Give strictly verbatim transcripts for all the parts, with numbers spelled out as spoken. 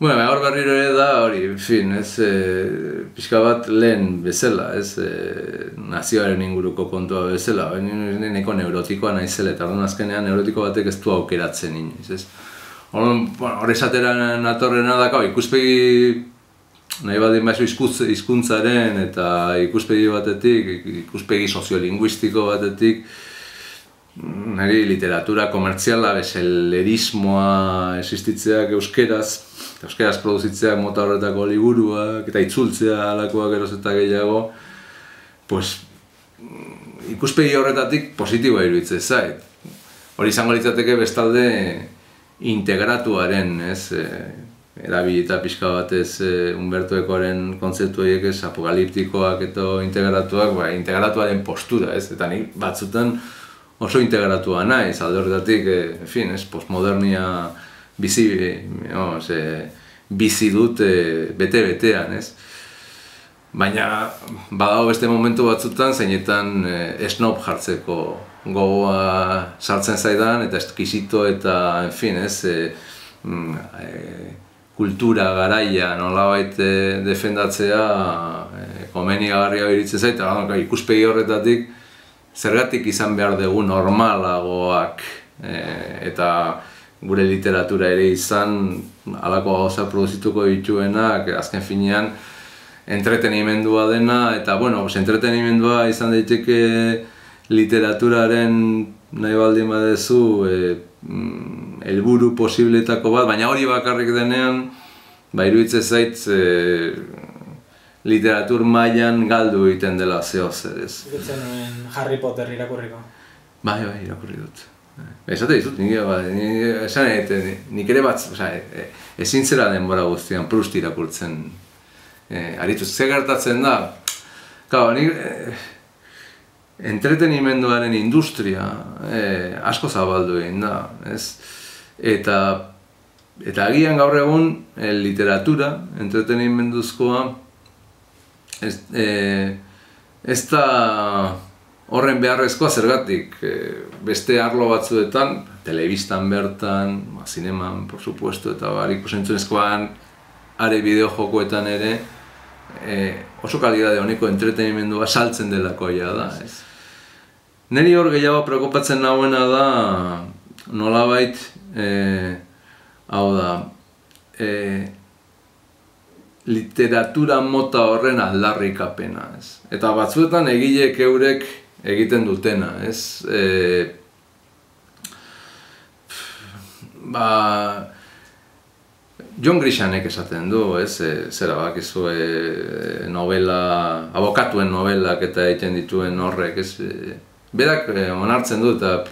Bueno, hor berriro ere da, hori, fin, ez, e, pixka bat lehen bezala, ez, e, nazioaren inguruko kontua bezala, neko neurotikoa naizela, eta orduan azkenean neurotiko batek ez du aukeratzen inoiz, ez. Orduan, hor esatera natorrena daka, ikuspegi nahi baldin baizu hizkuntzaren eta ikuspegi batetik, ikuspegi soziolinguistiko batetik, niri literatura komertziala, bezelerismoa existitzeak euskeraz, euskeraz produzitzeak mota horretako liburuak, eta itzultzea alakoak eroz eta gehiago, pues, ikuspegi horretatik positiboa iruditzen zait. Hori izango litzateke bestalde integratuaren, ez, erabilita pixka batez Umberto Ecoren kontzeptu horiek ez, apokaliptikoak eta integratuak, ba, integratuaren postura, ez, eta nik batzutan oso integratua naiz, alde horretatik, en fin, ez, postmodernia bizi, no, ze, bizi dut bete-betean, ez. Baina, badago beste momentu batzutan, zeinetan snob jartzeko gogoa sartzen zaidan, eta eskisito eta, en fin, ez, kultura garaia nolabait defendatzea komenigarria iruditzen zait, eta ikuspegi horretatik zergatik izan behar dugu normalagoak eta gure literatura ere izan halako gauza produzituko dituenak, azken finean entretenimendua dena, eta bueno, entretenimendua izan daiteke literaturaren nahi baldin badezu helburu posibletako bat, baina hori bakarrik denean iruditzen zait literatur mailan galdu egiten dela zehozer, ez. Ikutzen nuen Harry Potter irakurriko? Bai, bai, irakurri dut. Esate dizut, nik ere bat, ezin zera denbora guztian Proust irakurtzen aritu. Zer gertatzen da, nik entretenimenduaren industria asko zabaldu egin da, ez? Eta agian gaur egun literatura, entretenimenduzkoa, ez da horren beharrezkoa zergatik, beste arlo batzuetan, telebistan bertan, zineman, por supuesto, eta ikusentzunezkoan, are bideo-jokoetan ere, oso kalidade honeko entretenimendua saltzen delakoia da. Neri hor gehiago preokupatzen nagoena da, nolabait, hau da, literatura mota horren aldarrikapena, ez. Eta batzuetan egileek eurek egiten dutena, ez. Ba, John Grishanek esaten du, ez, zera bakizu novela, abokatuen novelak eta egiten dituen horrek, ez. Berak onartzen du eta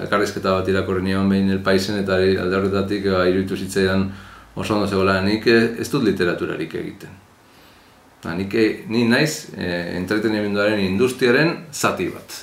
elkarrizketa bat irakurri nion behin El Paisen eta alde horretatik iruditu zitzaidan oso ondo zegoela, nik ez dut literaturarik egiten. Ni naiz entretenimenduaren industriaren zati bat.